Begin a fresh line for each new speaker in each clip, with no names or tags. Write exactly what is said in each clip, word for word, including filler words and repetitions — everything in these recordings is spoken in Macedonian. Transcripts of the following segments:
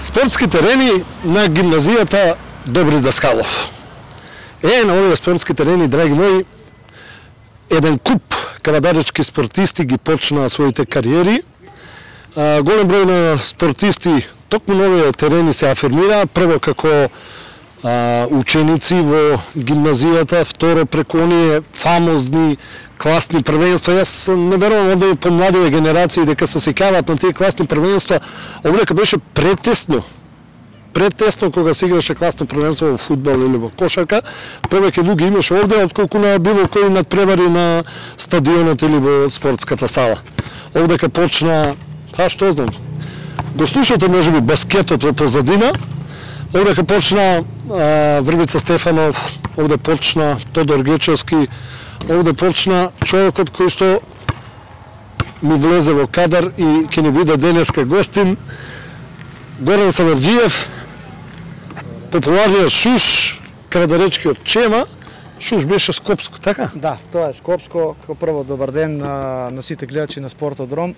Спортски терени на гимназијата Добри Даскалов. Е, на овие спортски терени, драги мои, еден куп кавадаречки спортисти ги почнаа своите кариери. А, голем број на спортисти токму на овие терени се афирмираа, прво како а, ученици во гимназијата, второ преку оние фамозни класни првенства. Јас не верувам од помладиве генерации дека се сеќаваат на тие класни првенства. Овдека беше претесно. Претесно кога се играше класно првенство во фудбал или во кошарка, повеќе луѓе имаше овде отколку на било кој надпревари на стадионот или во спортската сала. Овдека почна, па што знам, го слушате можеби баскетот во позадина. Овдека почна а, Врбица Стефанов, овде почна Тодор Гечевски, овде почна човекот кој што ми влезе во кадар и ќе ни биде денеска гостин, Горан Самарџиев, популарниот Шуш, кавадаречкиот Чема. Шуш беше Скопско, така?
Да, тоа е Скопско. Како прво добар ден на, на сите гледачи на Спортодром.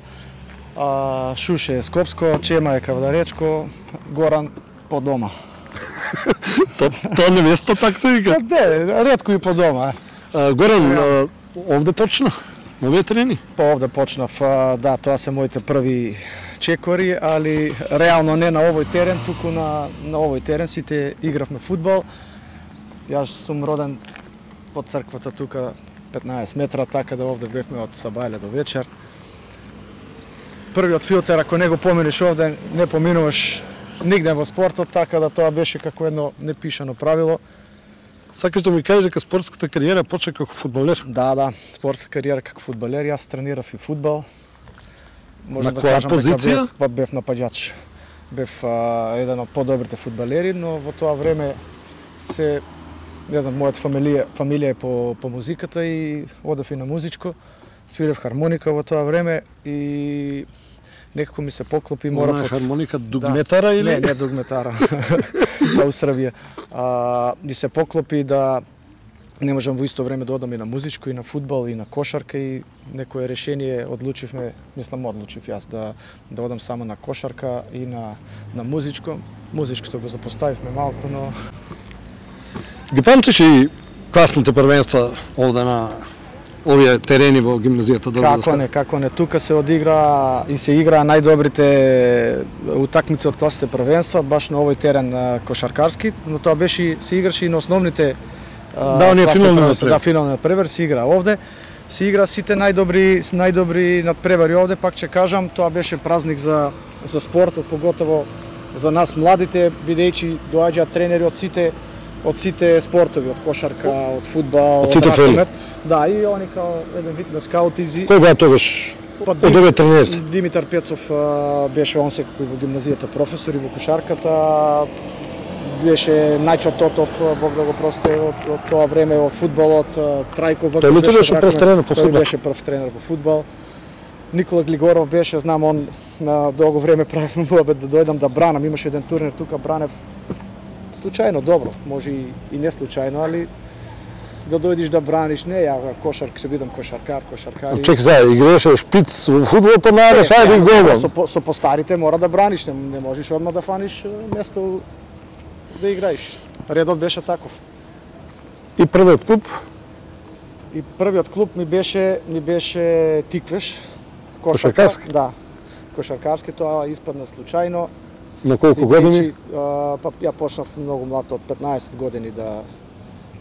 А, Шуш е Скопско, Чема е кавадаречко, Горан по дома.
То, тоа не место така да вика?
Не, ретко и по дома.
А, Горан, а, овде почна? Новиот трени?
Па овде почнав, а, да, тоа се моите први чекори, али реално не на овој терен, туку на, на овој терен сите игравме фудбал. Јас сум роден под црквата тука петнаесет метра, така да овде бевме од сабајле до вечер. Првиот филтер, ако не го поминиш овде, не поминуваш нигде во спортот, така да тоа беше како едно непишано правило.
Сакаш да ми кажеш дека спортската кариера почна како фудбалер?
Да, да, спортска кариера како фудбалер, јас тренирав и фудбал.
На да која позиција?
Бев, бев напаѓач. Бев а, еден од подобрите фудбалери, но во тоа време се, не знам, мојата фамилија, фамилија е по, по музиката и одев и на музичко. Свирев хармоника во тоа време и некако ми се поклопи.
Мора под... хармоника дугметара
да,
или?
Не, не дугметара. Тоа у Србија. А, и се поклопи да не можам во исто време да одам и на музичко, и на фудбал, и на кошарка, и некое решение одлучивме, мислам одлучив јас да да одам само на кошарка и на на музичко. Музичкото го запоставивме малку, но
ги памтиш и класните првенства овде на овие терени во гимназијата Добри Даскалов?
Како не, како не, тука се одигра и се игра најдобрите утакмици од класните првенства, баш на овој терен кошаркарски, но тоа беше се играше и на основните.
Да, оние финални надпревари.
Да, финални надпревари се игра овде. Се игра сите најдобри најдобри надпревари овде, пак ќе кажам, тоа беше празник за за спортот, поготово за нас младите, бидејќи доаѓаат тренери од сите од сите спортови, од кошарка, од фудбал,
од ракомет.
Да, и они као еден вид на скаутизи.
Кој беа тогаш? Од овие тренери?
Димитар Пецов беше он секако и во гимназијата професор и во кошарката. Беше Најчо Тотов, Бог да го прости, од, од тоа време од фудбалот, Трајко Врков.
Тој беше, беше прв тренер по фудбал.
Тој беше прв тренер по фудбал. Никола Глигоров беше, знам, он на долго време правев муабет да дојдам да бранам, имаше еден турнир тука, бранев случајно добро, може и, и не случајно, али да дојдиш да браниш, не ја кошарк, се бидам кошаркар, кошаркар.
Чек за, играше шпиц во фудбал, па најде сај би голман.
Со, со постарите мора да браниш, не, не можеш одма да фаниш место да играиш. Редот беше таков.
И првиот клуб?
И првиот клуб ми беше ми беше Тиквеш.
Кошаркарски?
Да. Кошаркарски, тоа испадна случајно.
На колку години?
А, па ја почнав многу млад, од петнаесет години да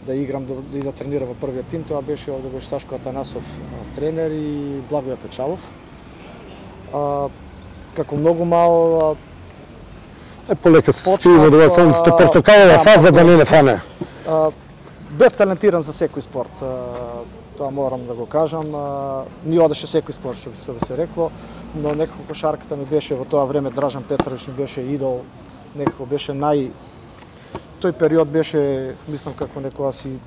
да играм да, и да тренирам во првиот тим. Тоа беше овде беше Сашко Атанасов тренер и Благоје Печалов. А, како многу мал
Е, полека се скриво да сам сте портокалова фаза да не не фане.
А, бев талентиран за секој спорт. А, тоа морам да го кажам. А, ми одеше секој спорт, што би се рекло, но некако кошарката ми беше во тоа време, Дражан Петрович ми беше идол некако беше нај тој период беше, мислам како некоја си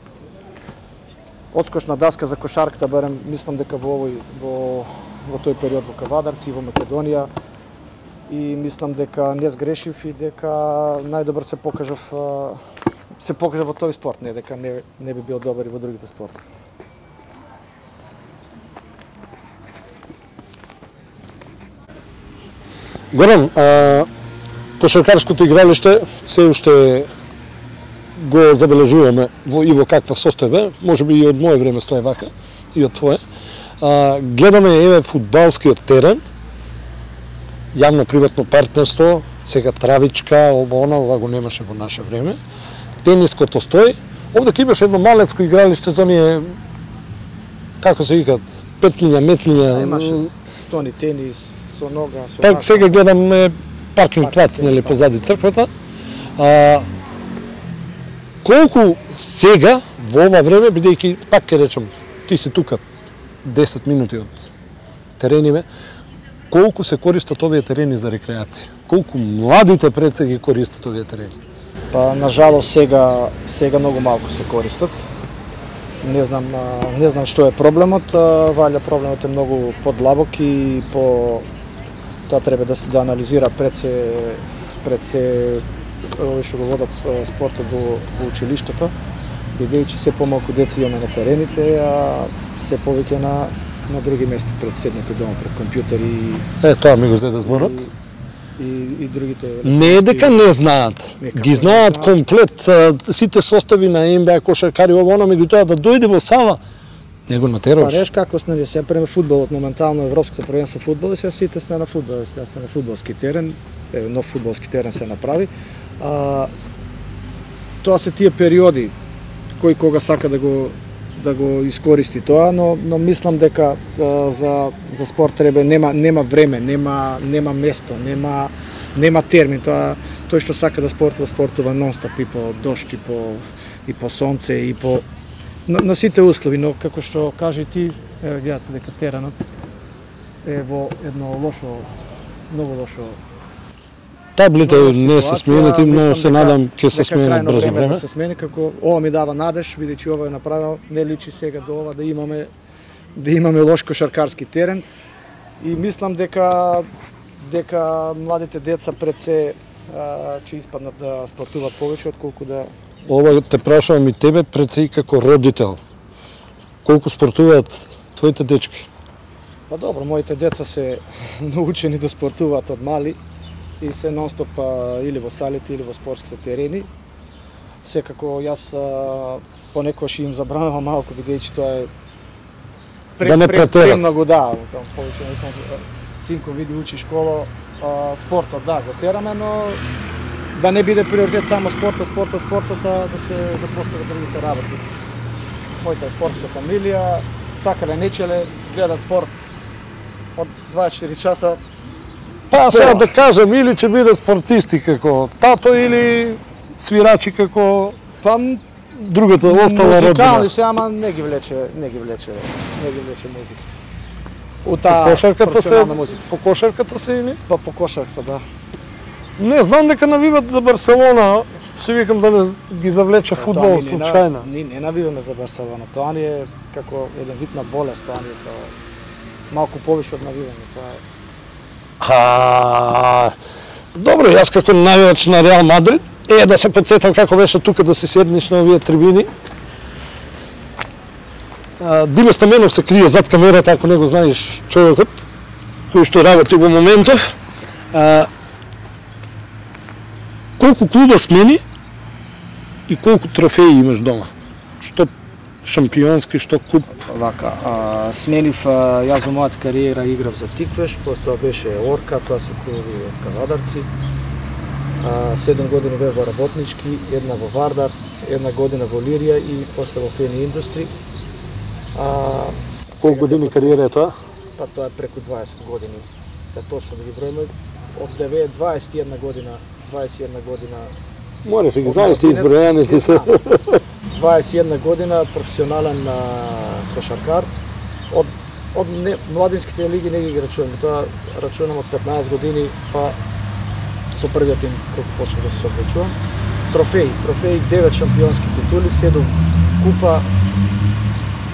одскочна даска за кошарката, барем мислам дека во овој во во тој период во Кавадарци, во Македонија, и мислам дека не сгрешив и дека најдобар се покажав се покажав во тој спорт, не дека не не би бил добар и во другите спортови.
Горан, а, кошаркарското игралиште се уште го забележуваме во и во каква состојба, можеби и од моје време стои вака, и од твое. А, гледаме еве фудбалскиот терен, јавно-приватно партнерство, сега травичка, ова она, ова го немаше во наше време. Тениското стои. Овде ќе имаш едно малецко игралиште за оние, како се викат, петлиња, метлиња.
Имаше стони тенис, со нога, со
Пак сега гледаме паркинг плац, нели, позади црквата. А, колку сега, во ова време, бидејќи, пак ќе речем, ти си тука десет минути од терениве, колку се користат овие терени за рекреација? Колку младите пред се ги користат овие терени?
Па, нажалост, сега, сега многу малку се користат. Не знам, не знам што е проблемот, валја проблемот е многу подлабок и по тоа треба да да анализира пред се пред се овој што го водат спортот во, во училиштата, бидејќи се помалку деца имаме на терените, а се повеќе на на други места, пред седнати дома пред компјутери и
Е, тоа ми го зеде зборот.
И, и, и другите.
Не е дека не знаат, ги знаат комплет сите состави на Н Б А кошаркари, ова она, меѓутоа да дојде во сала, не го натераш.
Па реш како сне се преме фудбалот, моментално европското првенство фудбал и сега сите сте на фудбал, сте на фудбалски терен, еве нов фудбалски терен се направи. А, тоа се тие периоди кој кога сака да го да го искористи тоа, но но мислам дека а, за за спорт треба нема нема време, нема нема место, нема нема термин, тоа тој што сака да спортува, спортува нонстоп и по дожд и по и по сонце и по на, на сите услови, но како што кажи ти, еве гледате дека теренот е во едно лошо, многу лошо.
Таблите не се сменети, но се надам ќе се сменат брзо време.
Да се смени, како ова ми дава надеж, бидејќи ова е направено, не личи сега до ова да имаме да имаме лош кошаркарски терен и мислам дека дека младите деца пред се а, ќе испаднат да спортуваат повеќе отколку да
Ова те прашувам и тебе пред се и како родител. Колку спортуваат твоите дечки?
Па добро, моите деца се научени да спортуваат од мали и се нонстоп или во салите или во спортските терени. Секако јас а, понекогаш им забранувам малку, бидејќи тоа е пре,
да не
пре,
претерат.
премногу, да, повеќе некам синко види учи школа, а, спортот да го тераме, но да не биде приоритет само спортот, спортот, спортот, а да се запостават другите работи. Мојата спортска фамилија, сакале нечеле, гледат спорт од дваесет и четири часа.
Па сега да кажам, или ќе биде спортисти како тато или свирачи како
Па
другата остала родина.
музикални се, ама не ги влече, не ги влече, не ги влече музиката. У
По
таа
кошарката се,
професионална музика.
по кошарката се или?
Па по кошарката, да.
Не, знам дека навиват за Барселона, се викам да не ги завлече фудбал случајно.
Ние не навиваме за Барселона, тоа ни е како еден вид на болест, тоа ни е тоа малку повише од навивање, тоа е.
А, добро, јас како навивач на Реал Мадрид, е да се подсетам како беше тука да се седнеш на овие трибини. А, Диме Стаменов се крие зад камерата, ако не го знаеш човекот, кој што работи во моментов. А, колку клуба смени и колку трофеи имаш дома? Што шампионски, што куп?
Вака, а, сменив, а, јас во мојата кариера играв за Тиквеш, после тоа беше Орка, тоа се клубови од Кавадарци. А, седум години бев во Работнички, една во Вардар, една година во Лирија и после во Фени Индустри. А,
Колку години кариера е тоа?
Па тоа е преку дваесет години. Се точно да ги броиме, од дваесет и една година, дваесет и една година.
Море се ги знаеш ти избројаните се.
дваесет и една година професионален а, кошаркар. Од од не, младинските лиги не ги рачунам, тоа рачунам од петнаесет години, па со првиот тим кој почнав да се соблечувам. Трофеи, трофеи, девет шампионски титули, седум купа,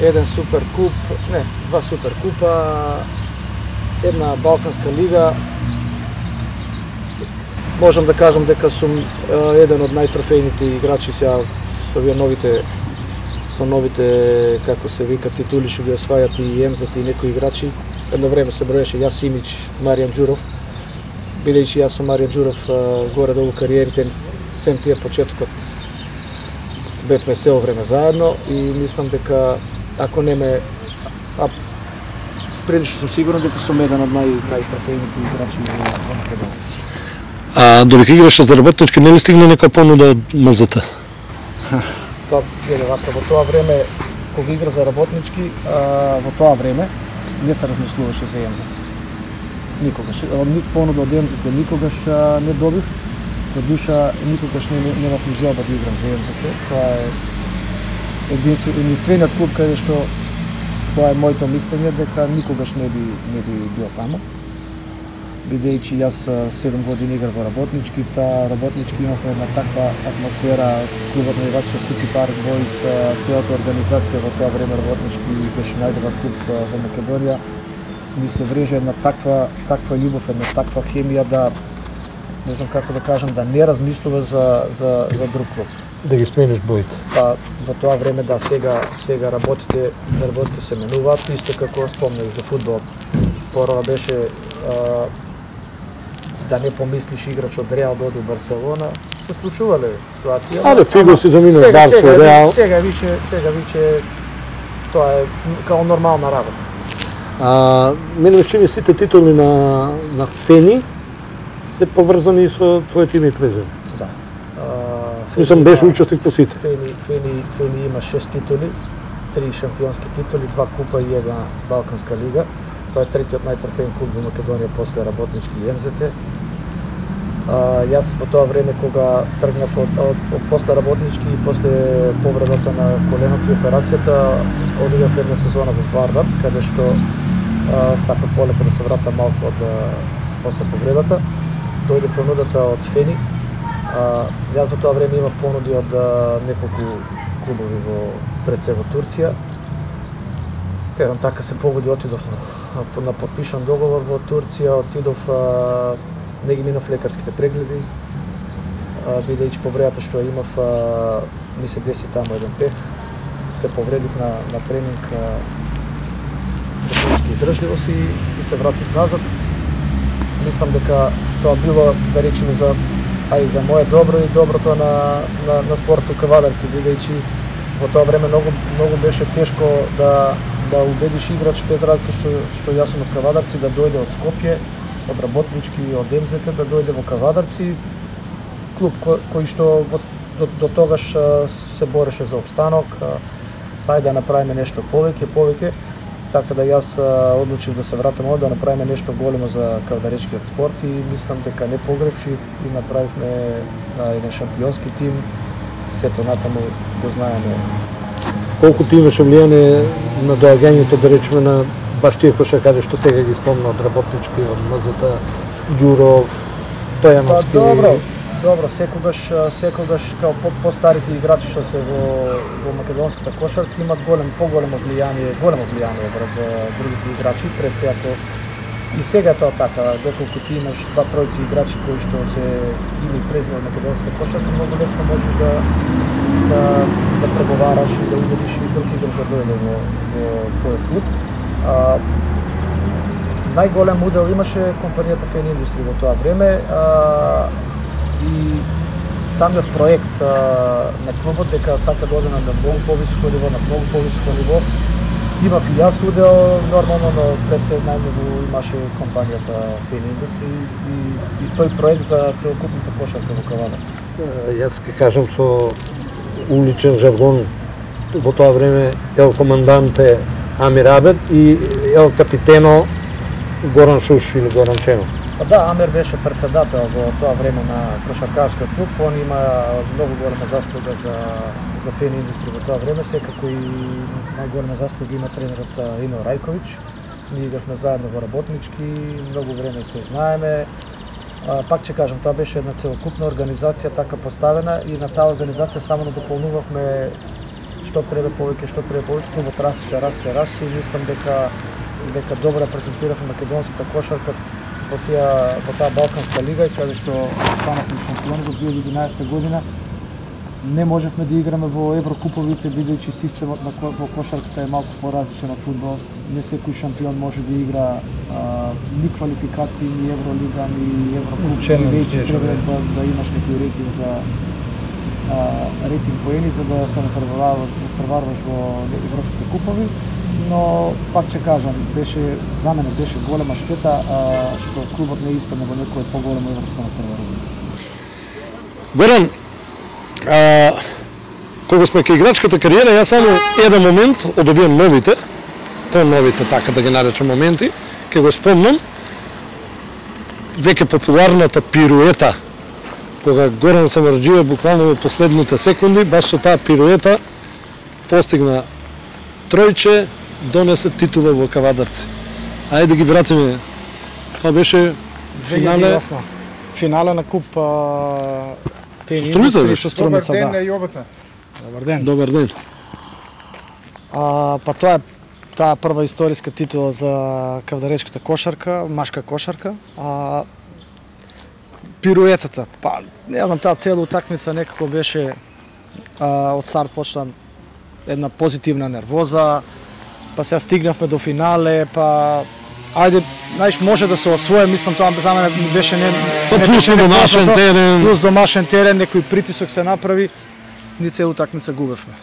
еден супер куп, не, два супер купа, една Балканска лига. Можам да кажам дека сум еден од најтрофејните играчи сега со овие новите со новите, како се вика, титули што ги освајат и ем-зет и некои играчи. Едно време се броеше јас, Симич, Маријан Ѓуров. Бидејќи јас со Маријан Ѓуров горе-долу кариерите, сем тие почетокот бевме се време заедно и мислам дека ако не ме а прилично сум сигурен дека сум еден од нај најтрофејните играчи во Македонија.
А додека играше за Работнички, не ли стигна нека понуда од ем-зет?
Па, еде вака, во тоа време, кога игра за Работнички, а, во тоа време не се размислуваше за ем-зет. Никогаш. Понуда од ем-зет никогаш а, не добив. До душа никогаш не немав ни желба да играм за ем-зет. Тоа е единствен, единствениот клуб каде што тоа е моето мислење дека никогаш не би не би бил таму. Бидејќи јас седум години играв во Работнички, та Работнички имавме една таква атмосфера, клубот на играчи Сити Парк Бойс, целата организација во тоа време Работнички беше најдобар клуб во Македонија. Ни се врежа една таква таква љубов, една таква хемија да не знам како да кажам, да не размислува за за за друг клуб.
Да ги смениш боите.
Па во тоа време да сега сега работите работите се менуваат, исто како спомнав за фудбал. Порано беше а, да не помислиш играч од Реал да оди во Барселона, се случувале ситуации.
Але Фиго си заминува Барса, Реал.
Сега више, сега више тоа е као нормална работа.
А мене ме чини сите титули на на Фени се поврзани со твоето име и презиме.
Да.
Мислам беше учесник по сите.
Фени Фени Фени има шест титули, три шампионски титули, два купа и една Балканска лига. Тоа е третиот најтрофеен клуб во Македонија после Работнички и ем-зет. А, јас во тоа време кога тргнав од, од, од после Работнички и после повредата на коленото и операцијата, одигав една сезона во Вардар, каде што а, сакав полека да се врата малку од после повредата. Дојде понудата од Фени. А, јас во тоа време имав понуди од а, неколку клубови во пред се во Турција. Еден така се погоди, отидов на на подпишан договор во Турција, отидов, а, не ги минав лекарските прегледи, а, бидејќи повредата што ја имав, а, ми се деси таму еден пех, се повредив на, на тренинг за физички издржливост и, и се вратив назад. Мислам дека тоа било, да речеме, за ај за моје добро и доброто на, на, на спортот кавадарци, бидејќи во тоа време многу многу беше тешко да да убедиш играч без разлика што што јас сум од Кавадарци да дојде од Скопје, од Работнички и од ем-зет да дојде во Кавадарци, клуб кој, кој што во, до, до тогаш се бореше за опстанок, па да направиме нешто повеќе, повеќе, така да јас одлучив да се вратам овде, да направиме нешто големо за кавадаречкиот спорт и мислам дека не погревши и направивме еден шампионски тим, сето натаму го знаеме.
Колку ти имаше влијание на доаѓањето, да речеме, на баш тие кошаркари што сега ги спомна од Работнички, од ем-зет, Ѓуров, Стојановски?
Па добро, добро, секогаш секогаш као по постарите играчи што се во во македонската кошарка имат голем поголемо влијание, големо влијание врз другите играчи, пред се ако и сега тоа така, доколку ти имаш два тројци играчи кои што се име и презиме од македонската кошарка, многу лесно можеш да да да преговараш и да убедиш и друг играч да дојде во во твојот клуб. А, најголем удел имаше компанијата Фени Индустри во тоа време а, и самиот проект а, на клубот дека сака да оде на многу повисоко ниво, на многу повисоко ниво. Имав и јас удел, нормално, но пред се најмногу имаше компанијата Фени Индустри и, и тој проект за целокупната кошарка во Кавадарци.
Јас ќе кажам со уличен жаргон во тоа време ел команданте Амир Абед и ел капитено Горан Шуш или Горан Ченов.
Па да, Амир беше председател во тоа време на кошаркарскиот клуб, он има многу голема заслуга за за Фени Индустри во тоа време, секако и најголема заслуга има тренерот Ино Рајковиќ. Ние игравме заедно во Работнички, многу време се знаеме. А, пак ќе кажам, тоа беше една целокупна организација така поставена и на таа организација само надополнувавме што треба повеќе, што треба повеќе, клубот растеше, растеше, растеше и мислам дека дека добро презентиравме македонската кошарка во таа во таа Балканска лига и каде што станавме шампиони во две илјади и единаесета година. Не можевме да играме во еврокуповите, бидејќи системот на во кошарката е малку поразличен од фудбал. Не секој шампион може да игра а, ни квалификации, ни евролига, ни еврокуп. Веќе треба да, да имаш некој рейтинг за а, рейтинг поени за да се преварваш во европските купови. Но пак ќе кажам, беше за мене беше голема штета а, што клубот не испадна во некое поголемо европско натпреварување.
Горан, а, кога сме кај играчката кариера, јас само еден момент од овие новите, по-новите, така да ги наречам моменти, ќе го спомнам, дека популарната пируета, кога Горан Самарџиев буквално во последните секунди, баш со таа пируета постигна тројче, донесе титула во Кавадарци. Ајде да ги вратиме. Тоа беше финале.
Финале на куп
Струmiца
со Струмица,
Добар ден
да.
на јобата.
Добар ден.
Добар ден.
А, па тоа е таа прва историска титула за кавдаречката кошарка, машка кошарка. А, пируетата, па не знам, таа цела утакмица некако беше а, од старт почна една позитивна нервоза, па сега стигнавме до финале, па ајде, знаеш, може да се освои, мислам тоа за мене беше не
Па
не
плюс
беше
домашен
непознато,
терен.
плюс домашен терен, некој притисок се направи, ни цела утакмица губевме.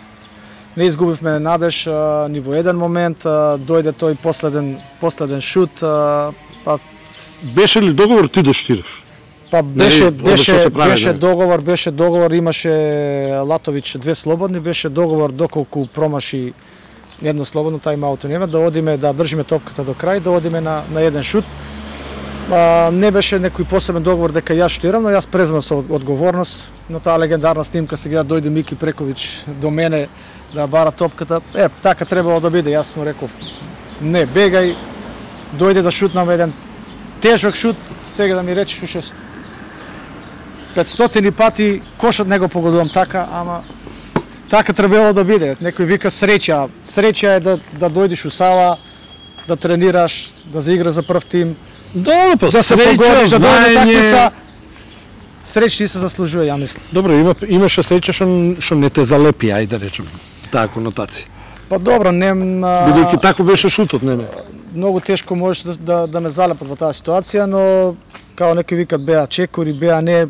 Не изгубивме надеж а, ни во еден момент, а, дојде тој последен последен шут, а, па
Беше ли договор ти да штираш?
Па беше
Нели,
беше
што се прави,
беше
да?
договор, беше договор, имаше Латовиќ две слободни, беше договор доколку промаши едно слободно тајм-аут нема да одиме да држиме топката до крај, да одиме на на еден шут. А, не беше некој посебен договор дека јас штирам, но јас преземав со одговорност на таа легендарна снимка сега дојде Мики Прековиќ до мене да бара топката. Е, така требало да биде, јас му реков не бегај, дојде да шутнам еден тежок шут, сега да ми речеш уште петстотини пати кошот не го погодувам така, ама така требало да биде. Некој вика среќа, среќа е да да дојдеш у сала, да тренираш, да заиграш за прв тим,
Добро, па
да се
среќа,
погодиш, да дојде
знаење.
такмица. Среќа се заслужува, ја мислам.
Добро, има имаше среќа што што не те залепи, ајде да речем. Таа конотација.
Па добро, не
Бидејќи тако беше шутот, не не.
многу тешко можеш да, да, да ме залепат во таа ситуација, но као некои викат беа чекори, беа не,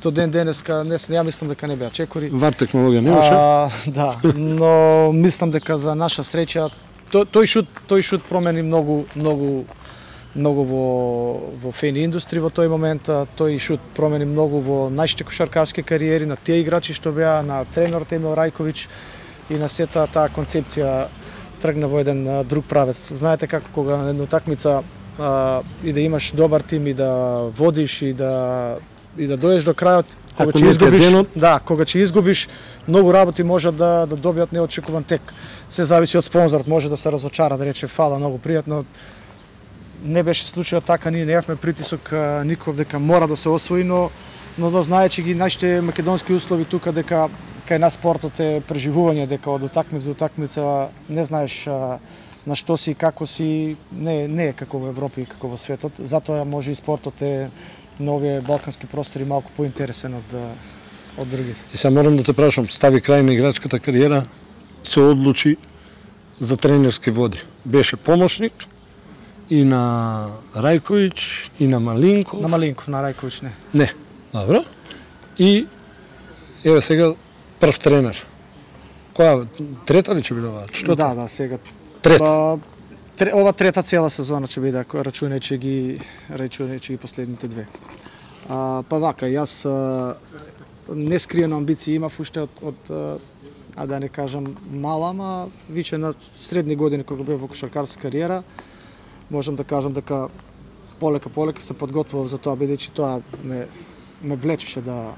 до ден денеска не ја мислам дека не беа чекори.
Вар технологија немаше.
А, да, но мислам дека за наша среќа тој, тој шут тој шут промени многу многу многу во во фени индустрија во тој момент, тој шут промени многу во нашите кошаркарски кариери, на тие играчи што беа, на тренерот Емил Рајковиќ и на сета таа концепција тргна во еден а, друг правец. Знаете како кога на една утакмица а, и да имаш добар тим и да водиш и да и да дојдеш до крајот, кога
Ако
ќе
не е
изгубиш,
денот.
да, кога ќе изгубиш, многу работи може да да добијат неочекуван тек. Се зависи од спонзорот, може да се разочара, да рече фала, многу пријатно. Не беше случајот така, ние немавме притисок а, ников дека мора да се освои, но но да знаечи ги нашите македонски услови тука дека кај нас спортот е преживување, дека од утакмица до утакмица не знаеш а, на што си и како си, не не е како во Европа и како во светот. Затоа може и спортот е на овие балкански простори малку поинтересен од од другите.
И сега морам да те прашам, стави крај на играчката кариера, се одлучи за тренерски води. Беше помошник и на Рајковиќ, и на Малинков.
На Малинков, на Рајковиќ не.
Не, добро. И еве сега прв тренер. Која трета ли ќе биде ова? Што?
Да, да, сега.
Трета.
Па, тре, ова трета цела сезона ќе биде, ако рачунајќи ги рачунајќи ги последните две. А, па вака, јас а, нескриено амбиции имав уште од, од а да не кажам мала, ама више на средни години кога бев во кошаркарска кариера, можам да кажам дека полека полека се подготвував за тоа, бидејќи тоа ме ме влечеше да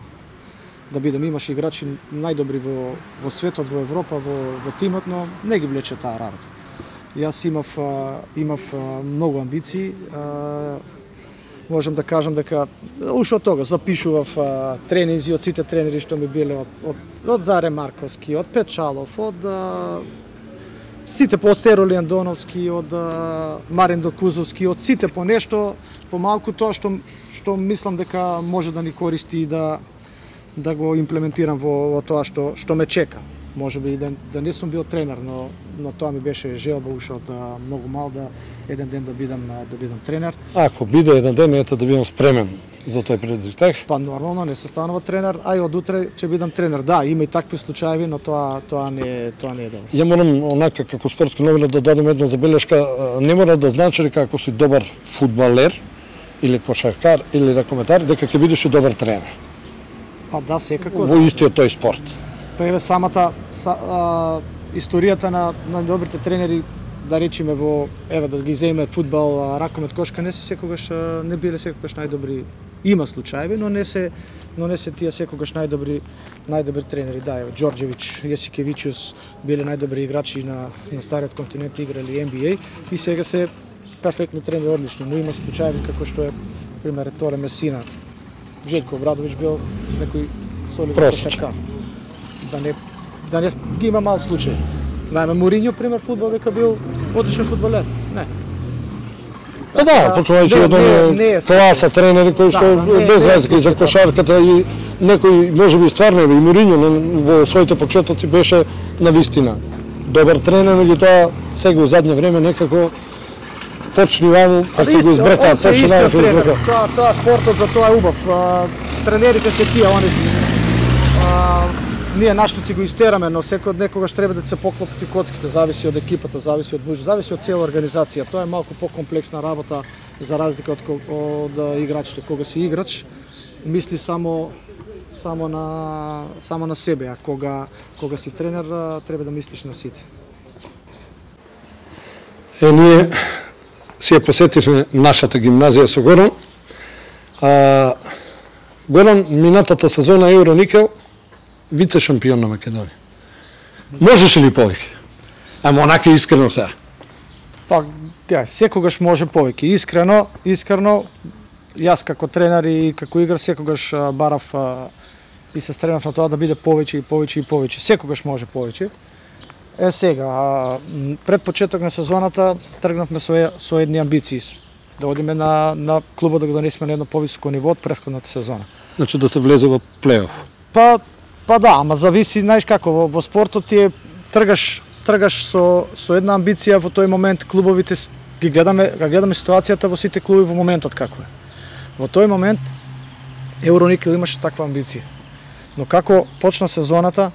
да бидам, имаше играчи најдобри во во светот, во Европа, во во тимот, но не ги влече таа работа. Јас имав а, имав а, многу амбиции, а, можам да кажам дека уште од тога запишував а, тренинзи од сите тренери што ми биле од од, од Заре Марковски, од Печалов, од а, сите по Стеро Лиандоновски, од а, Марин Докузовски, од сите по нешто, по малку тоа што што мислам дека може да ни користи и да да го имплементирам во, во тоа што што ме чека. Може би да, да не сум бил тренер, но но тоа ми беше желба уште од а, многу мал да еден ден да бидам да бидам тренер.
Ако биде еден ден, ете да бидам спремен за тој предизвик, така?
Па нормално не се станува тренер, а и од утре ќе бидам тренер. Да, има и такви случаи, но тоа тоа не тоа не е добро.
Ја морам онака како спортски новинар да дадам една забелешка, не мора да значи дека ако си добар фудбалер или кошаркар или ракометар дека ќе бидеш и добар тренер.
Па да, секако.
Во истиот тој спорт.
Па еве самата са, а, историјата на на добрите тренери, да речеме во еве да ги земе фудбал, ракомет, кошка, не се секогаш не биле секогаш најдобри. Има случаи, но не се но не се тие секогаш најдобри најдобри тренери. Да, еве Џорџевиќ, Јесикевичус биле најдобри играчи на на стариот континент, играли Н Б А и сега се перфектни тренери, одлични, но има случаи како што е пример Торе Месина. Желко Обрадовиќ бил некој солиден кошаркар. Да не да не ги има мал случај. Најме Моринјо пример фудбал дека бил одличен фудбалер. Не.
Па да, почувајќи од оние класа тренери кои што без разлика и за кошарката и некој можеби стварно и Моринјо во своите почетоци беше на вистина добар тренер, меѓутоа сега во задње време некако почни ваму, па ќе го избрекаат, почни ваму ќе избрекаат.
Тоа, тоа спортот за тоа е убав. Тренерите се тие, они ние наштуци го истераме, но секој од некогаш треба да се поклопи коцките, зависи од екипата, зависи од буџет, зависи од цела организација. Тоа е малку покомплексна работа за разлика од, од играчите. Кога си играч, мисли само само на само на себе, а кога кога си тренер треба да мислиш на сите.
Е, ние си ја посетивме нашата гимназија со Горан. А, Горан, минатата сезона Евроникел, вице шампион на Македонија. Можеше ли повеќе? Ама онака искрено сега.
Па, ја, секогаш може повеќе. Искрено, искрено, јас како тренер и како играч секогаш барав а, и се стремав на тоа да биде повеќе и повеќе и повеќе. Секогаш може повеќе. Е сега, а, пред почеток на сезоната тргнавме со, со едни амбиции да одиме на на клубот да го донесеме на едно повисоко ниво од претходната сезона.
Значи да се влезе во плейоф.
Па па да, ама зависи, знаеш како, во, во спортот ти е тргаш тргаш со со една амбиција во тој момент клубовите ги гледаме, ги гледаме ситуацијата во сите клуби во моментот како е. Во тој момент Евроникел имаше таква амбиција. Но како почна сезоната,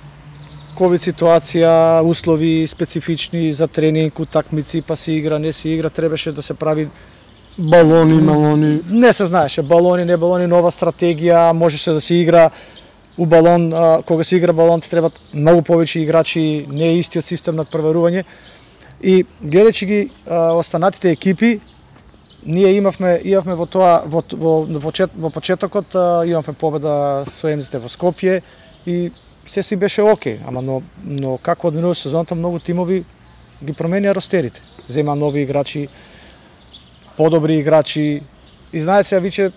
ковид ситуација, услови специфични за тренинг, утакмици, па се игра, не се игра, требаше да се прави
балони, малони.
Не се знаеше балони, не балони, нова стратегија, можеше да се игра у балон, а, кога се игра балон ти требат многу повеќе играчи, не е истиот систем надпреварување. И гледајќи ги а, останатите екипи, ние имавме имавме во тоа во во во, почет, во почетокот а, имавме победа со Емзите во Скопје и се си беше окей, ама но но како одминува сезоната многу тимови ги променија ростерите. Зема нови играчи, подобри играчи и знаете се виќе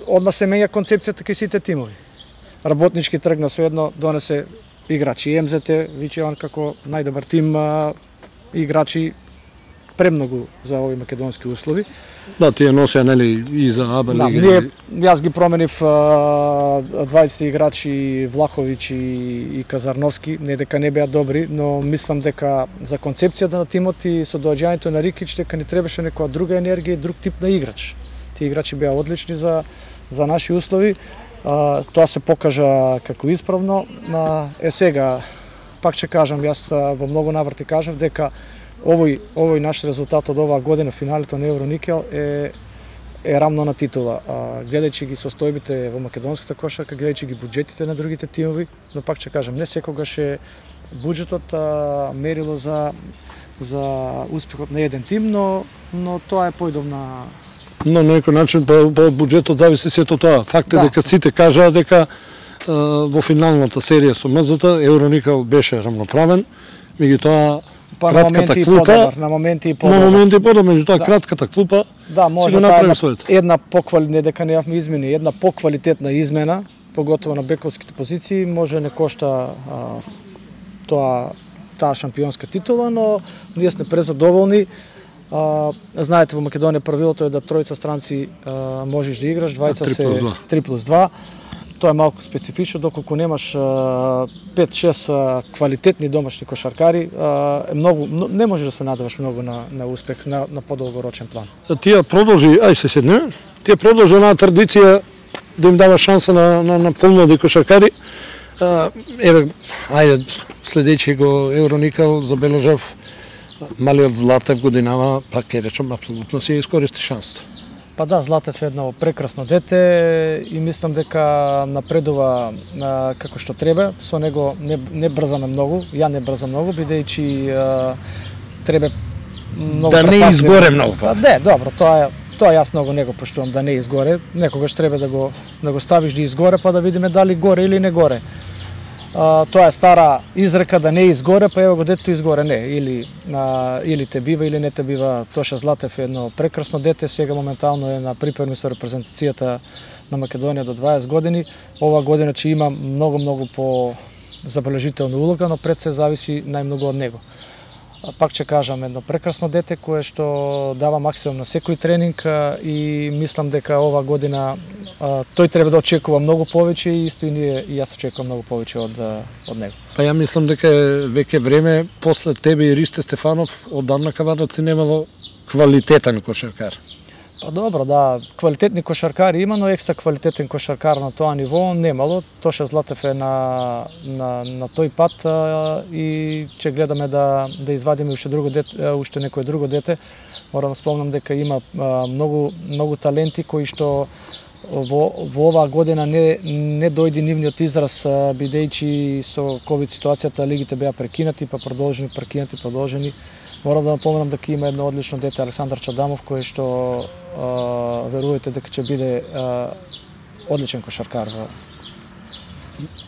одма се менја концепцијата кај сите тимови. Работнички тргна со едно, донесе играчи Емзете, виќе он како најдобар тим а, играчи премногу за овои македонски услови.
Да, тие носеа нели и за АБА
да,
лига.
Ние, јас ги променив дваесет играчи Влаховиќ и, и Казарновски, не дека не беа добри, но мислам дека за концепцијата на тимот и со доаѓањето на Рикич дека ни требаше некоја друга енергија и друг тип на играч. Тие играчи беа одлични за за наши услови. А, тоа се покажа како исправно. На е сега пак ќе кажам, јас во многу наврати кажав дека овој овој наш резултат од оваа година, финалето на Евроникел е е рамно на титула. А, гледајќи ги состојбите во македонската кошарка, гледајќи ги буџетите на другите тимови, но пак ќе кажам, не секогаш е буџетот а, мерило за за успехот на еден тим, но но тоа е појдов на
Но на некој начин по, по буџетот зависи сето тоа. Факт е
да.
дека сите кажаа дека а, во финалната серија со МЗ-та Евроникел беше рамноправен, меѓутоа
Па на моменти и подобар, на моменти и подобар.
На моменти и подобар, меѓутоа
да.
кратката клупа
да, може
си го направи своето.
Една поквалитетна, не дека неавме измени, една поквалитетна измена, поготово на бековските позиции, може не кошта а, тоа таа шампионска титула, но ние сме презадоволни. А, знаете, во Македонија правилото е да тројца странци а, можеш да играш, двајца се три плюс два. Тоа е малку специфично, доколку немаш пет-шест квалитетни домашни кошаркари, е многу, не може да се надеваш многу на, на успех на, на подолгорочен план.
Тие продолжи, ај се седне, тие продолжи онаа традиција да им дава шанса на, на, на помлади кошаркари. Еве, ајде, следејќи го Евроникал, забележав малиот Златев годинава, пак ќе речам, апсолутно си искористи шансата.
Па да, Златев е едно прекрасно дете и мислам дека напредува а, како што треба. Со него не, не брзаме многу, ја не брзам многу, бидејќи треба многу
да не изгоре многу.
Па не, добро, тоа е тоа јас многу не го поштувам, да не изгоре. Некогаш треба да го да го ставиш да изгоре, па да видиме дали горе или не горе. А, тоа е стара изрека да не изгоре, па ево го детето изгоре, не, или а, или те бива или не те бива. Тоша Златев е едно прекрасно дете, сега моментално е на припреми со репрезентацијата на Македонија до дваесет години. Ова година ќе има многу многу по забележителна улога, но пред се зависи најмногу од него. Пак ќе кажам, едно прекрасно дете кое што дава максимум на секој тренинг и мислам дека ова година а, тој треба да очекува многу повеќе и исто и ние и јас очекувам многу повеќе од од него.
Па ја мислам дека е веќе време после тебе и Ристе Стефанов одамна Кавадарци немало квалитетен кошаркар.
Па добро, да, квалитетни кошаркари има, но екстра квалитетен кошаркар на тоа ниво немало. Тоша Златев е на на на тој пат а, и ќе гледаме да да извадиме уште друго дете, уште некое друго дете. Морам да спомнам дека има а, многу многу таленти кои што во во оваа година не не дојде нивниот израз, бидејќи со ковид ситуацијата лигите беа прекинати, па продолжени, прекинати, продолжени. Морам да напоменам дека има едно одлично дете, Александар Чадамов, кој што а, верувате дека ќе биде а, одличен кошаркар.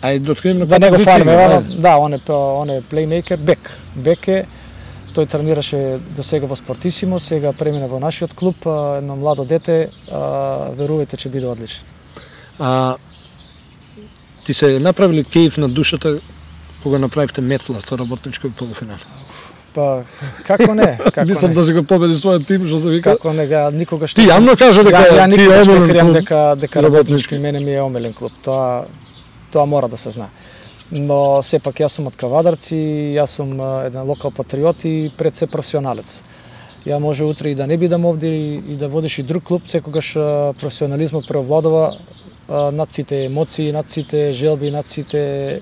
Ај да открием
да не го фалиме, да, он е он е плеймейкер, бек. Бек е, тој тренираше до сега во Спортисимо, сега премина во нашиот клуб, едно младо дете, а, верувате ќе биде одличен. А
ти се направили кејф на душата кога направивте метла со работничкиот полуфинал?
Па како не, како
Мислам
не.
да се го победи својот тим, што се вика.
Како не, га никогаш
ти јавно кажа дека
ја, ја
ти
никогаш
е
не кријам
клуб,
дека дека работнички мене ми е омилен клуб. Тоа тоа мора да се знае. Но сепак јас сум од Кавадарци, јас сум еден локал патриот и пред се професионалец. Ја може утре и да не бидам овде и да водиш и друг клуб, секогаш професионализмот преовладува над сите емоции, над сите желби, над сите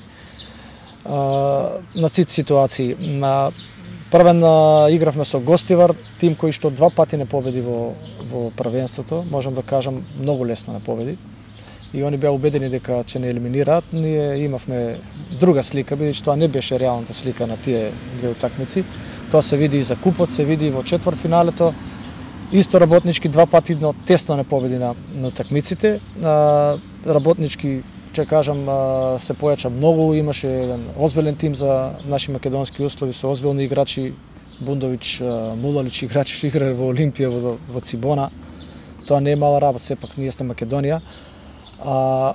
над сите ситуации. На првен игравме со Гостивар, тим кој што два пати не победи во во првенството, можам да кажам многу лесно не победи. И они беа убедени дека ќе не елиминираат. Ние имавме друга слика, бидејќи тоа не беше реалната слика на тие две утакмици. Тоа се види и за купот, се види и во четвртфиналето. Исто работнички два пати но тесно не победи на, на утакмиците. Работнички, ќе кажам, се појача многу, имаше еден озбилен тим за наши македонски услови со озбилни играчи, Бундович, Мулалич играчи што играле во Олимпија, во, во Цибона. Тоа не е мала работа, сепак ние сте Македонија. А,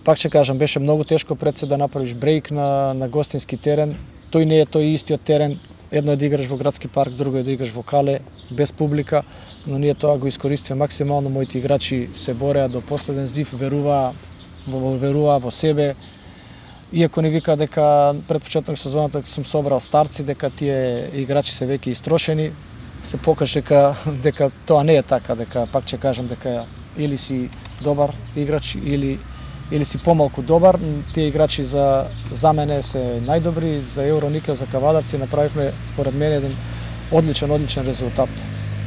пак ќе кажам, беше многу тешко пред се да направиш брейк на, на гостински терен. Тој не е тој истиот терен. Едно е да играш во градски парк, друго е да играш во Кале, без публика, но ние тоа го искористиме максимално. Моите играчи се бореа до последен здив, веруваа во, веруваа во себе. Иако не вика дека пред почеток сезоната сум собрал старци, дека тие играчи се веќе истрошени, се покаже дека, дека тоа не е така, дека пак ќе кажам дека или си добар играч или или си помалку добар. Тие играчи за за мене се најдобри, за Евроникел, за Кавадарци направивме според мене еден одличен одличен резултат.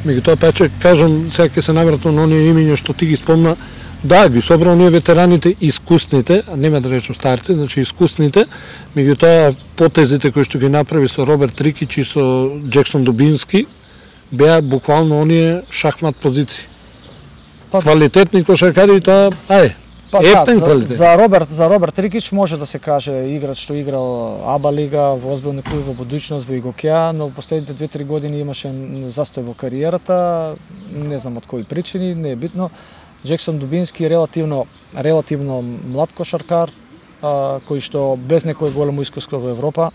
Меѓутоа па ќе кажам, сега ќе се навратам на оние имиња што ти ги спомна. Да, ги собра оние ветераните, искусните, а нема да речем старци, значи искусните, меѓутоа потезите кои што ги направи со Роберт Рикич и со Джексон Дубински беа буквално оние шахмат позиции. Па, квалитетни кошаркари, тоа, ај,
Па
ептен
да, за,
квалитет.
за Роберт за Роберт Рикич може да се каже играч што играл АБА лига, во озбилни клуби во будуćност, во Игокеа, но последните две-три години имаше застој во кариерата, не знам од кои причини, не е битно. Джексон Дубински е релативно релативно млад кошаркар, а, кој што без некој големо искуство во Европа.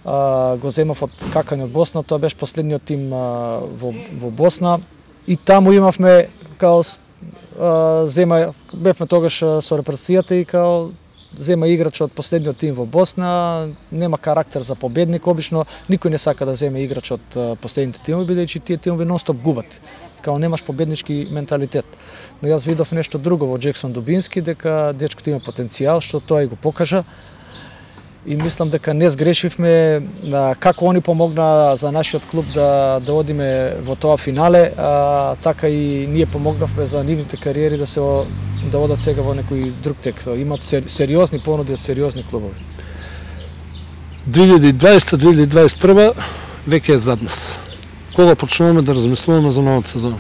А, го земав од Какани од Босна, тоа беше последниот тим а, во, во Босна и таму имавме као а, зема бевме тогаш со репресијата и као зема играч од последниот тим во Босна, нема карактер за победник, обично никој не сака да земе играч од последните тимови, бидејќи тие тимови нонстоп губат. Као немаш победнички менталитет. Но јас видов нешто друго во Джексон Дубински, дека дечкото има потенцијал, што тоа и го покажа. И мислам дека не сгрешивме како они помогна за нашиот клуб да да одиме во тоа финале, а, така и ние помогнавме за нивните кариери да се да одат сега во некој друг тек. Имат сериозни понуди од сериозни клубови.
две илјади и дваесета - две илјади и дваесет и прва веќе е зад нас. Кога почнуваме да размислуваме за новата сезона?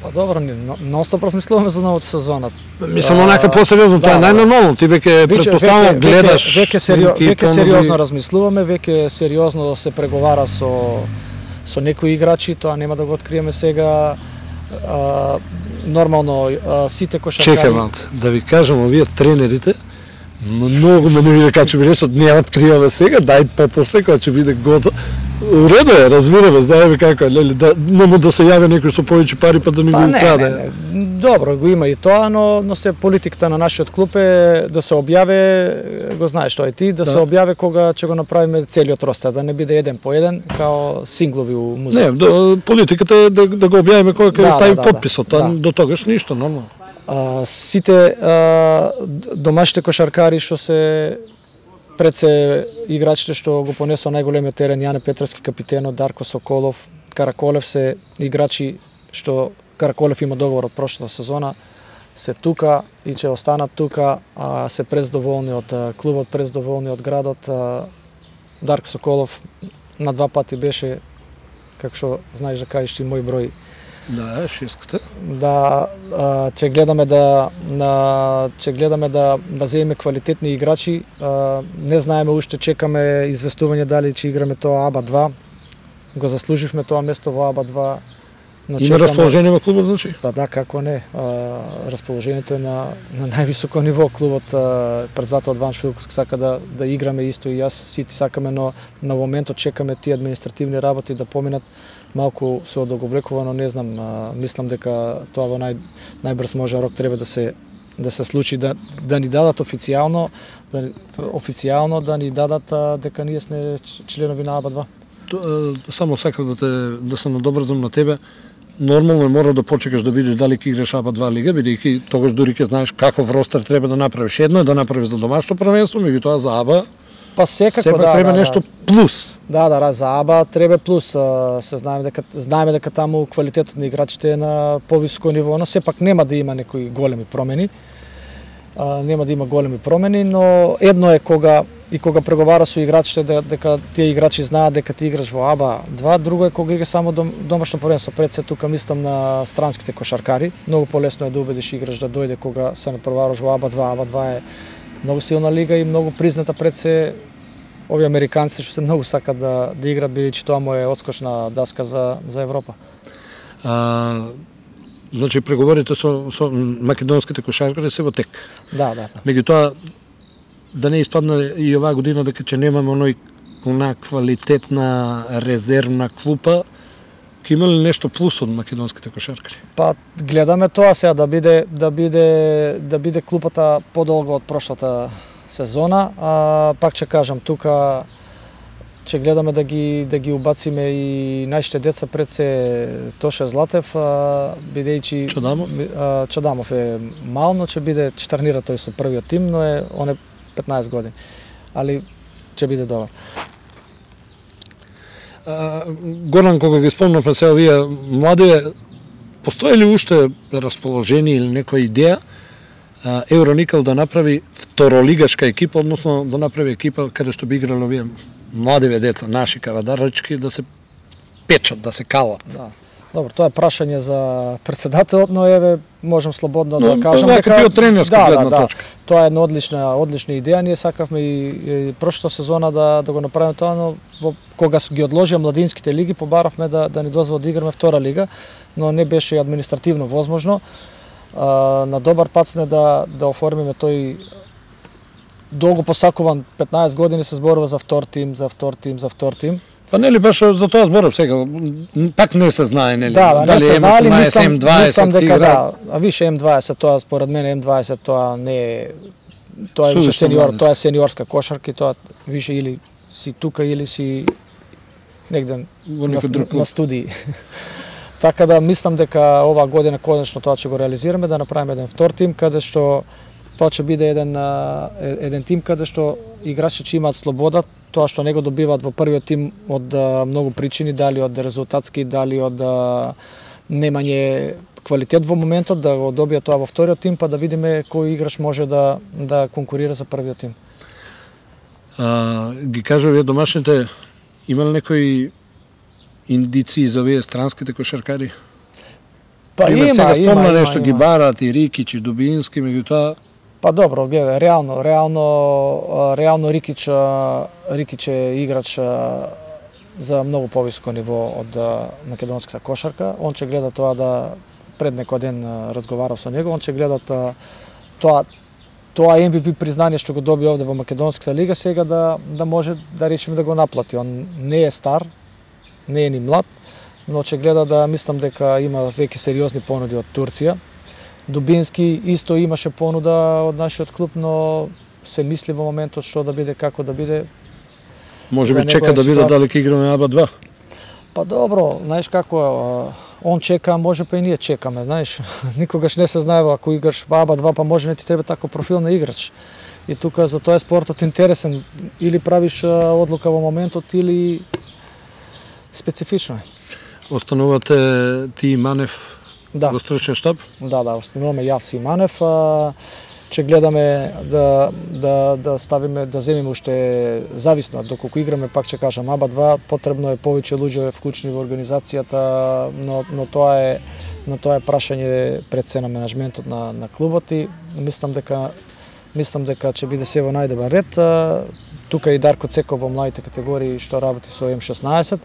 Па добро, нонстоп размислуваме за новата сезона.
Мислам, онака посериозно, тоа е
да,
најнормално. Ти веќе претпоставувам гледаш.
Веќе сериозно, веќе сериозно размислуваме, веќе сериозно се преговара со со некои играчи, тоа нема да го откриеме сега. А, нормално а, сите кошаркари.
Чекај малце, да ви кажам, овие тренерите многу ме не кога ќе ми речат не откриваме сега, дај попосле кога ќе биде готово. Уредо е, разбираме, знаеме како е, нели, да нему да се јави некој со повеќе пари па да ни
па,
го
не,
украде.
не, не. Добро, го има и тоа, но но се политиката на нашиот клуб е да се објаве, го знаеш тоа и ти, да, да се објаве кога ќе го направиме целиот ростер, да не биде еден по еден, као синглови у музеј.
Не, до, политиката е да, да го објавиме кога ќе
да,
стави
да,
подписот,
да,
а
да.
до тогаш ништо, нормално.
А, сите а, домашните кошаркари што се пред се играчите што го понесоа најголемиот терен, Јане Петровски капитенот, Дарко Соколов, Караколев се играчи што Караколев има договор од прошлата сезона, се тука и ќе останат тука, а се прездоволни од клубот, прездоволни од градот. Дарко Соколов на два пати беше, како што знаеш да кажеш ти, мој број.
Да, шеската.
Да, ќе гледаме да на ќе гледаме да да земеме квалитетни играчи. А, не знаеме уште, чекаме известување дали ќе играме тоа АБА два. Го заслуживме тоа место во АБА два.
Но има чекаме... расположение во клубот, значи?
Па да, како не. А, расположението е на на највисоко ниво. Клубот а, председател од Ваншвилк сака да да играме исто и јас сите сакаме, но на моментот чекаме тие административни работи да поминат. Малку се одоговлекува, но не знам, а, мислам дека тоа во нај најбрз може рок треба да се да се случи, да да ни дадат официјално, да официјално да ни дадат а, дека ние сме членови на АБА два.
То, само сакам да те да се надоврзам на тебе. Нормално е мора да почекаш да видиш дали ќе играш АБА два лига, бидејќи тогаш дури ќе знаеш каков ростер треба да направиш. Едно е да направиш за домашно првенство, меѓутоа за АБА
па секако
сепак
да,
треба
да,
нешто
да.
плюс.
Да, да, за АБА треба плюс. Се знаеме дека знаеме дека таму квалитетот на играчите е на повисоко ниво, но сепак нема да има некои големи промени. А, нема да има големи промени, но едно е кога и кога преговара со играчите да, дека тие играчи знаат дека ти играш во АБА два, друго е кога играш само дом, домашно првенство. Пред се тука мислам на странските кошаркари. Многу полесно е да убедиш играч да дојде кога се натпреваруваш во АБА два. АБА два е многу силна лига и многу призната пред се овие американци што се многу сакат да да играат, бидејќи тоа му е одскочна даска за за Европа.
А, значи преговорите со со македонските кошаркари се во тек.
Да, да, да.
Меѓутоа да не испадне и оваа година дека ќе немаме оној она квалитетна резервна клупа, ќе има ли нешто плюс од македонските кошаркари?
Па гледаме тоа сега да биде да биде да биде клупата подолго од прошлата сезона, а пак ќе кажам тука ќе гледаме да ги да ги убациме и нашите деца пред се Тоше Златев, бидејќи
Чадамов?
Чадамов е мал, но ќе биде ќе тренира тој со првиот тим, но е он е петнаесет години. Али ќе биде добар.
Горан, кога ги спомнавме се овие млади, постои ли уште расположение или некоја идеја Евроникел да направи второлигашка екипа, односно да направи екипа каде што би играле овие младиве деца, наши кавадарачки, да се печат, да се калат?
Да. Добро, тоа е прашање за председателот, но еве можам слободно
но,
да кажам
дека ти од тренерска
да,
гледна
да,
точка.
Да, тоа е една одлична одлична идеја. Ние сакавме и, и прошлата сезона да да го направиме тоа, но во, кога ги одложија младинските лиги, побаравме да да ни дозволат да играме втора лига, но не беше административно возможно. А, на добар пат сме да да оформиме тој долго посакуван петнаесет години се зборува за втор тим, за втор тим, за втор тим.
Па нели беше за тоа зборов сега, пак не се знае нели.
Да, да, не се знае, али мислам, мислам дека да, а више М дваесет тоа според мене М дваесет тоа не е тоа е више сениор, тоа е сениорска кошарка и тоа више или си тука или си негде на, на студии. Така да мислам дека оваа година конечно тоа ќе го реализираме, да направиме еден втор тим каде што тоа ќе биде еден еден тим каде што играчи ќе имаат слобода, тоа што не го добиваат во првиот тим од многу причини, дали од резултатски, дали од немање квалитет во моментот, да го добијат тоа во вториот тим, па да видиме кој играч може да да конкурира за првиот тим.
А, ги кажа вие домашните, има ли некои индиции за овие странските кошаркари?
Па
Пример,
има,
сега спомна
има,
нешто,
има,
ги
има.
барат и Рикич и Дубински, меѓутоа
Па добро, гледа, реално, реално, реално Рикич, Рикич е играч за многу повисоко ниво од македонската кошарка. Он ќе гледа тоа да пред некој ден разговарав со него, он ќе гледа тоа тоа М В П признание што го доби овде во македонската лига сега да да може да речеме да го наплати. Он не е стар, не е ни млад, но ќе гледа да мислам дека има веќе сериозни понуди од Турција. Дубински исто имаше понуда од нашиот клуб, но се мисли во моментот што да биде, како да биде.
може би чека да биде дали ќе играме Аба два.
Па добро, знаеш како, он чека, може па и ние чекаме, знаеш. Никогаш не се знаева ако играш Аба два, па може не ти треба тако профил на играч. И тука за тоа е спортот интересен, или правиш одлука во моментот или специфично е.
Останувате ти и Манев
Да.
во стручен штаб?
Да, да, остануваме јас и Манев. А, ќе гледаме да да да ставиме да земеме уште зависно доколку играме, пак ќе кажам Аба два, потребно е повеќе луѓе вклучени во организацијата, но но тоа е но тоа е прашање пред се на менаџментот на на клубот и мислам дека мислам дека ќе биде се во најдобар ред. А, тука и Дарко Цеков во младите категории што работи со М шеснаесет,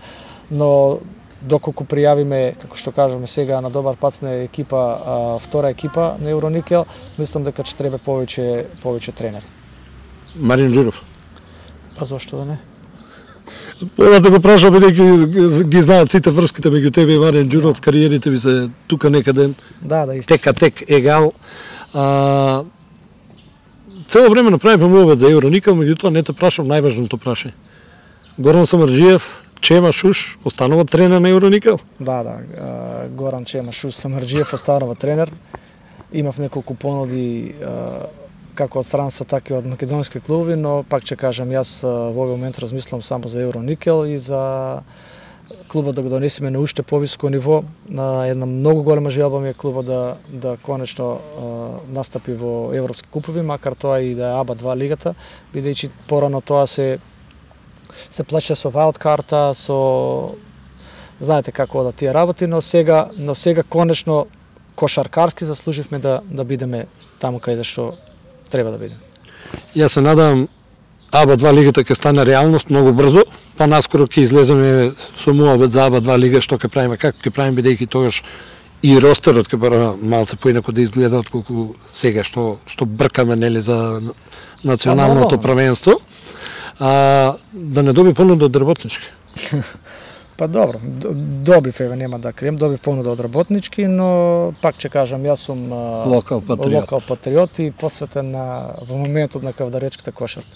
но доколку пријавиме, како што кажаме сега, на добар пат сме екипа, а, втора екипа на Евроникел, мислам дека ќе треба повеќе повеќе тренери.
Марин Џуров.
Па зошто да не?
Ова да го прашам, бидејќи ги знаат сите врските меѓу тебе и Марин Џуров, кариерите ви се тука некаде.
Да, да, исто.
Тека тек егал. А, цело време направивме мовет за Евроникел, меѓутоа не те прашам најважното прашање. Горан Самарџиев, Чема Шуш останува тренер на Евроникел?
Да, да, Горан Чема Шуш Самарџиев останува тренер. Имав неколку понуди како од странство, така и од македонски клубови, но пак ќе кажам, јас во овој момент размислам само за Евроникел и за клубот да го донесеме на уште повисоко ниво. На една многу голема желба ми е клубот да да конечно настапи во европски купови, макар тоа и да е Аба два лигата, бидејќи порано тоа се се плаќа со вајлд карта, со знаете како одат тие работи, но сега но сега конечно кошаркарски заслуживме да да бидеме таму каде што треба да бидеме.
Јас се надам Аба два лигата ќе стане реалност многу брзо, па наскоро ќе излеземе со муабет за Аба два лига, што ќе правиме, како ќе правиме, бидејќи тогаш и ростерот ќе бара малце поинако да изгледа отколку сега што што бркаме нели за националното првенство. А, да не доби понуда од работнички.
Па добро, добив, еве нема да крием, добив понуда од работнички, но пак ќе кажам, јас сум
локал патриот,
локал патриот и посветен на во моментот на кавдаречката кошарка.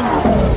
Thank you.